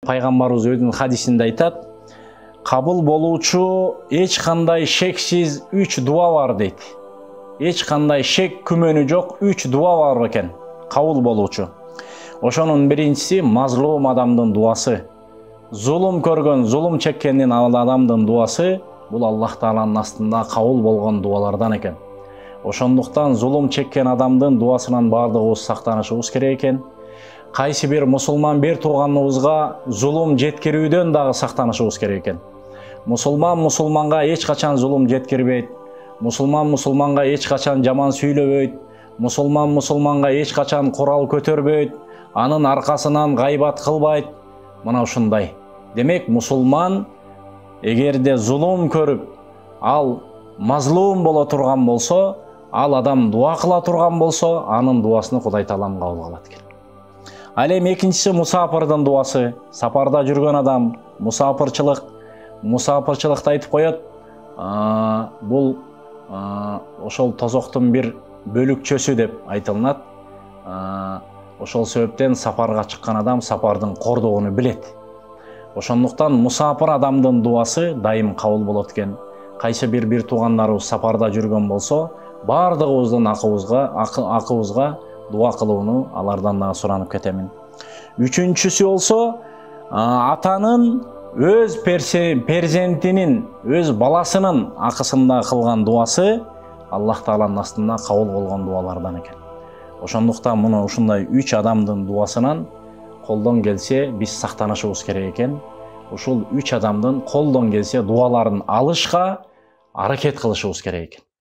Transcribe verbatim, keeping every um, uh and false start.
Пайгамбарыбыз өзүнүн хадисинде айтат, кабыл болуучу эч кандай шексиз үч дуа бар дейт. Эч кандай шек күмөнү жок үч дуа бар экен, кабыл болуучу. Ошонун биринчиси мазлум адамдын дуасы. Зулум көргөн, зулум чеккендин адамдын дуасы бул Аллах Тааланын астында кабыл болгон дуалардан экен. Ошондуктан зулум чеккен адамдын дуасынан бардыгыбыз сактанышыбыз керек экен. Кайсы бир мусулман бир тууганыбызга зулум жеткирүүдөн дагы сактанышыбыз керек экен. Мусулман мусулманга эч качан зулум жеткирбейт. Мусулман мусулманга эч качан жаман сүйлөбөйт. Мусулман мусулманга эч качан курал көтөрбөйт. Анын аркасынан гайбат кылбайт. Мына ушундай. Демек, мусулман эгерде зулум көрүп, ал мазлум боло турган болсо, ал адам дуа кыла турган болсо, анын дуасын Кудай Таалам кабыл кылат экен. Ал эми экинчиси мусафирдин дуасы. Сапарда жүргөн адам, мусафирчылык, мусафирчылыкты айтып коет. Бул ошол тозоктун бир бөлүкчөсү деп айтылат. Ошол себептен сапарга чыккан адам сапардын кордогуну билет. Ошондуктан мусафир адамдын дуасы дайым кабыл болот экен. Кайсы бир бир туугандарыбыз сапарда жүргөн болсо, бардыгыбыздын акыбызга, акыбызга дуа кылууну алардан дагы суранып кетемин. Үчүнчүсү болсо, атанын өз перзентинин, өз баласынын акысында кылган дуасы Аллах Тааланын астында кабыл болгон дуалардан экен. Ошондуктан муну ушундай үч адамдын дуасынан колдон келсе биз сактанышыбыз керек экен. Ушул үч адамдын колдон келсе дуаларын алышка аракет кылышыбыз керек экен.